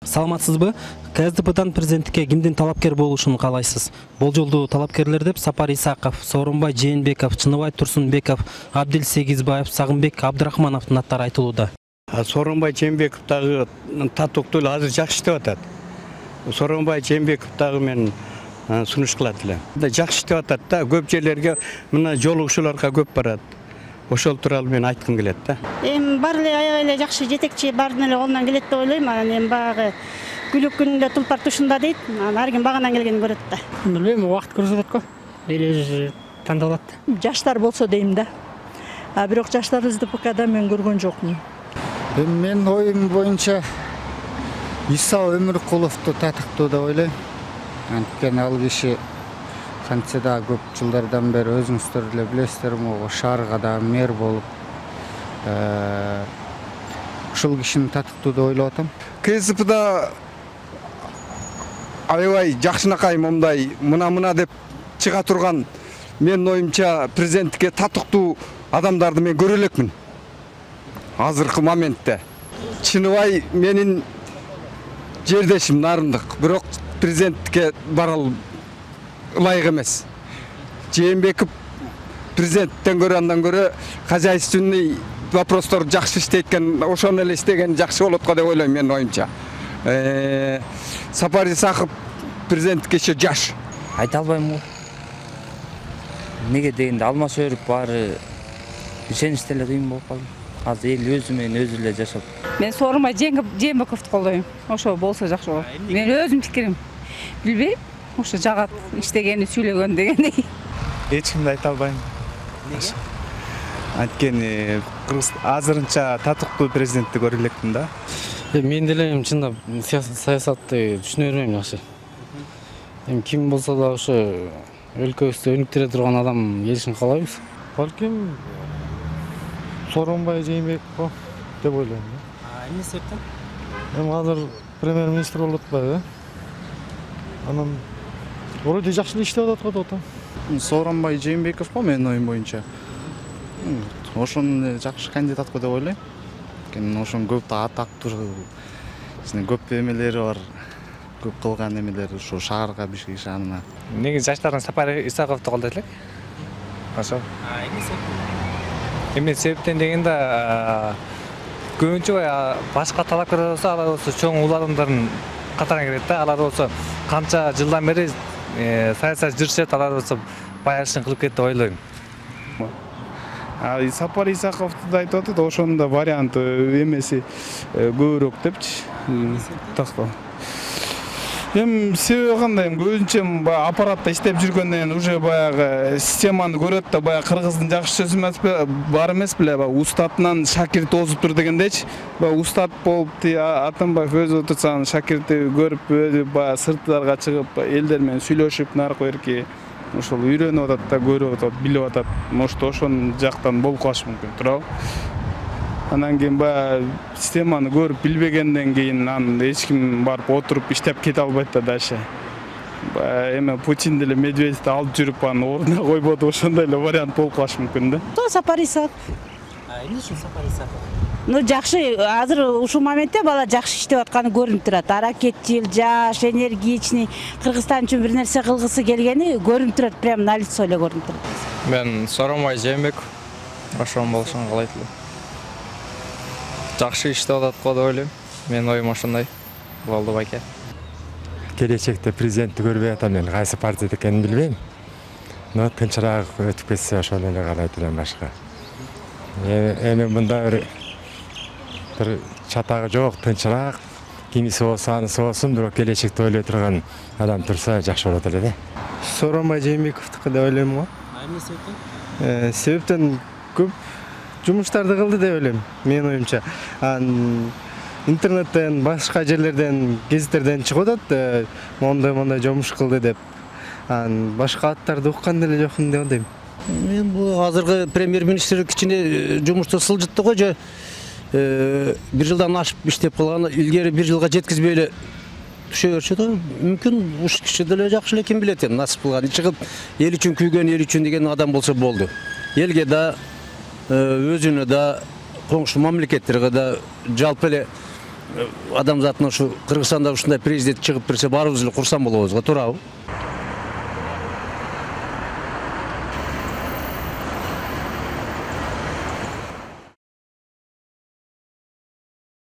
Саламатсызбы? КСДПдан президенттикке кимдин талапкер болушун каалайсыз? Болжолдуу талапкерлер деп Сапар Исаков, Сооронбай Жээнбеков, Чыныбай Турсунбеков, Абдил Сегизбаев, Сагынбек Абдрахмановдун аттары айтылууда. Сооронбай Жээнбеков дагы татыктуу эле азыр жакшы иштеп атат. Сооронбай Жээнбеков дагы мен сунуш кылат элем. Жакшы иштеп атат да, көп жерлерге мына жолугушууларга көп барат. Ошол тууралуу мен айткым келет да. Эми баары эле аябай эле жакшы жетекчи баардын эле колунан келет деп ойлойм. Анан эми баягы күлүк күнүндө тулпар тушунда дейт. Ар ким багынан келгенин көрөт да. Билбейм, убакыт көрсөтөт го. Эли өзү тандалат. Жаштар болсо дейм да. Бирок жаштар СДПКда мен көргөн жокмун. Мен оюм боюнча Иса Өмүркуловду татыктуу деп ойлойм. Анткени ал киши кантсе да көп жылдардан бери өзүңүздөр эле билесиздер, могу шаарга да мэр болуп, ушул кишини татыктуу деп ойлоп атам. КСДПда аябай жакшынакай момундай мына деп чыга турган менин оюмча президенттикке татыктуу адамдарды мен көрө элекмин. Азыркы моментте Чыныбай менин жердешим нарындык, бирок президенттикке бара ылайык эмес. Жээнбеков президенттен көрө андан көрө хозяйственный вопростор жакшы иштейт экен, ошону эле иштеген жакшы болот го деп ойлойм менин оюмча. Сапар Исаков президенттикке еще жаш. Айта албайм го. Неге дегенде алмаш өрүп баары ишеничте эле кыйын болуп калды. Азыр эл өзү менен өзү эле жашап. Мен Сооронбай Жээнбековду колдойм. Ошо болсо жакшы болот. Мен өзүм пикирим. Билбейм. Ошо жагат иштегени, сүйлөгөн дегендей. Эч кимди айта албайм. Неге? Анткени азырынча татыктуу президентти көрө элекмин да. Мен деле чындап саясатты түшүнө бербейм жакшы. Эми ким болсо да ошо өлкөбүздү өнүктүрө турган адам келишин каалайбыз. Балким Сооронбай Жээнбеков деп ойлойм. Эмне себептен? Эми азыр премьер-министр болуп атпайбы? Анан вроде жакшы эле иштеп атат го деп атам. Сооронбай Жээнбеков го менин оюм боюнча. Ошону жакшы кандидат го деп ойлойм. Анткени ошонун көп атактуу, көп эмелери бар. Көп кылган эмелери ушу шаарга бишке ишанына. Неге жаштардын Сапар Исаковду колдойт элек? Ошо. Эмне себептен дегенде көбүнчө башка талапкерлер болсо, алар болсо чоң улуу адамдардын катарына кирет да. Алар болсо канча жылдан бери саясат жүрүшөт, алар болсо баягы ишин кылып кетти деп ойлойм. Сапар Исаковду да айтып атат, ошонун да варианты эмеси көбүрөөк депчи. Тактоо. Эми себеби кандай? Көбүнчө баягы аппаратта иштеп жүргөндөн уже баягы системаны көрөт да, баягы кыргыздын жакшы сөзү эмес бар эмес беле, баягы устатынан шакирт озуптур дегендечи. Баягы устат болуп Атамбаев өзү отурса шакирти көрүп, өзү баягы сырттарга чыгып, элдер менен сүйлөшүп, наркы берки ошол үйрөнүп атат да, көрүп атат, билип атат. Может, ошон жактан болуп калышы мүмкүн, туурабы? Анан кийин баягы системаны көрүп билбегенден кийин анан эч ким барып отуруп иштеп кете албайт да дальше. Эми Путин деле Медведевди алып жүрүп анын ордуна койбоду, ошондой эле вариант болуп калышы мүмкүн да. Сапар Исаков. Эмне үчүн Сапар Исаков? Жакшы, азыр ушул моментте бала жакшы иштеп атканы көрүнүп турат. Аракетчил, жаш, энергичный, Кыргызстан үчүн бир нерсе кылгысы келгени көрүнүп турат, прям на лицо эле көрүнүп турат. Мен Сооронбай Жээнбеков ошон болушун каалайт элем. Жакшы иштеп атат го деп ойлойм. Менин оюм ошондой болду байке. Келечекте президентти көрбөй атам, мен кайсы партия экенин билбейм. Но тынчыраак өтүп кетсе ошону эле каалайт элем башка. Эми мында бир чатагы жок, тынчыраак, кимиси болсо анысы болсун, бирок келечекти ойлой турган адам турса жакшы болот эле да. Сооронбай Жээнбековдуку деп ойлойм го. Эмне себептен? Себептен көп жумуштарды кылды деп ойлойм, менин оюмча. Интернеттен, башка жерлерден, гезиттерден чыгып атат, мондай жумуш кылды деп. Башка аттарды уккан деле жокмун деп ойлойм. Мен бул азыркы премьер-министр кичине жумушту сылжытты го, же бир жылдан ашып иштеп калган, илгери бир жылга жеткизбей эле түшө берчү да. Мүмкүн уш киши деле жакшы эле, ким билет, насып кылган. Чыгып эл үчүн күйгөн, эл үчүн деген адам болсо болду. Элге да, өзүнө да, коңшу мамлекеттерге да жалпы эле адамзаттын ушу Кыргызстанда ушундай президент чыгып берсе баарыбыз эле курсан болобуз го, туурабы?